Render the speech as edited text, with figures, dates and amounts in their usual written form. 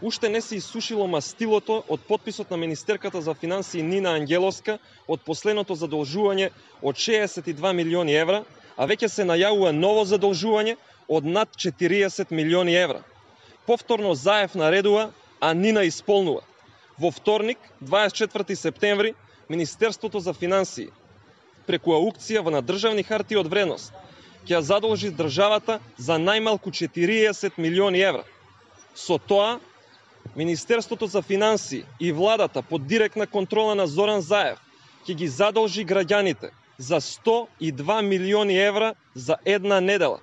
уште не се исушило мастилото од потписот на министерката за финансии Нина Ангеловска од последното задолжување од 62 милиони евра, а веќе се најавува ново задолжување од над 40 милиони евра. Повторно Заев наредува, а Нина исполнува. Во вторник, 24 септември, Министерството за финансии преку аукција на државни хартии од вредност ќе задолжи државата за најмалку 40 милиони евра. Со тоа, Министерството за финансии и владата под директна контрола на Зоран Заев ќе ги задолжи граѓаните за 102 милиони евра за една недела.